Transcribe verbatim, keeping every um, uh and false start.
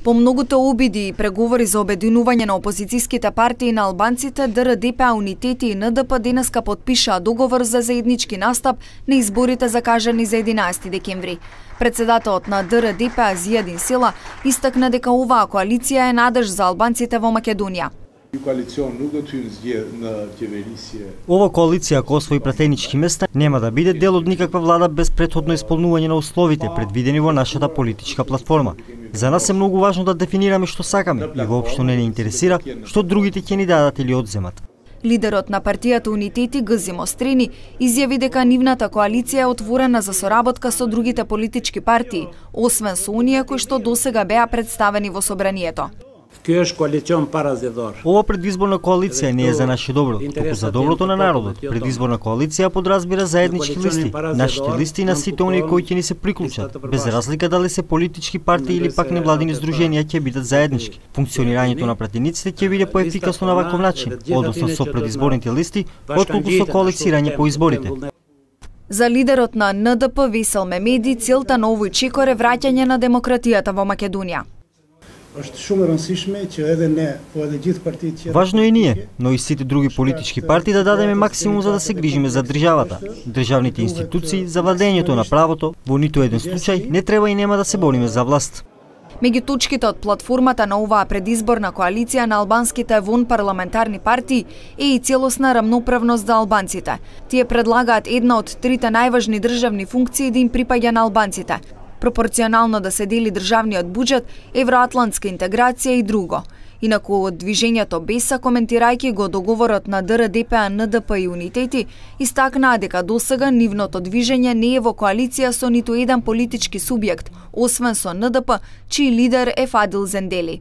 По многуто обиди и преговори за обединување на опозицијските партии на албанците, Д Р Д П А, Унитети и Н Д П денеска потпишаа договор за заеднички настап на изборите закажани за единаесети декември. Председателот на Д Р Д П А Зијадин Села истакна дека оваа коалиција е надеж за албанците во Македонија. Ова коалиција, ако освои пратенички места, нема да биде дел од никаква влада без претходно исполнување на условите предвидени во нашата политичка платформа. За нас е многу важно да дефинираме што сакаме и воопшто не ни интересира што другите ќе ни дадат или одземат. Лидерот на партијата Унитети Гзи Мострени изјави дека нивната коалиција е отворена за соработка со другите политички партии, освен со оние кои што досега беа представени во собранието. Ова предизборна коалиција не е за наше добро, туку за доброто на народот. Предизборна коалиција подразбира заеднички листи, нашите листи на сите оние кои ќе ни се приклучат, без разлика дали се политички партии или пак невладини здруженија ќе бидат заеднички. Функционирањето на пратениците ќе биде поефикасно на ваков начин, односно со предизборните листи, отколку со коалицирање по изборите. За лидерот на Н Д П Весел Мемеди, целта на овој чекор е враќање на демократијата во Македонија. Важно е ние, но и сите други политички партии да дадеме максимум за да се грижиме за државата, државните институции, за владењето на правото. Во ниту еден случај не треба и нема да се бориме за власт. Меѓу точките од платформата на оваа предизборна коалиција на албанските вонпарламентарни партии е и целосна рамноправност за албанците. Тие предлагаат една од трите најважни државни функции да им припаѓа на албанците: пропорционално да се дели државниот буџет, евроатлантска интеграција и друго. Инаку од движењето Беса, коментирајќи го договорот на Д Р Д П А, Н Д П и Унитети, истакнаа дека досега нивното движење не е во коалиција со ниту еден политички субјект, освен со Н Д П, чиј лидер е Фадил Зендели.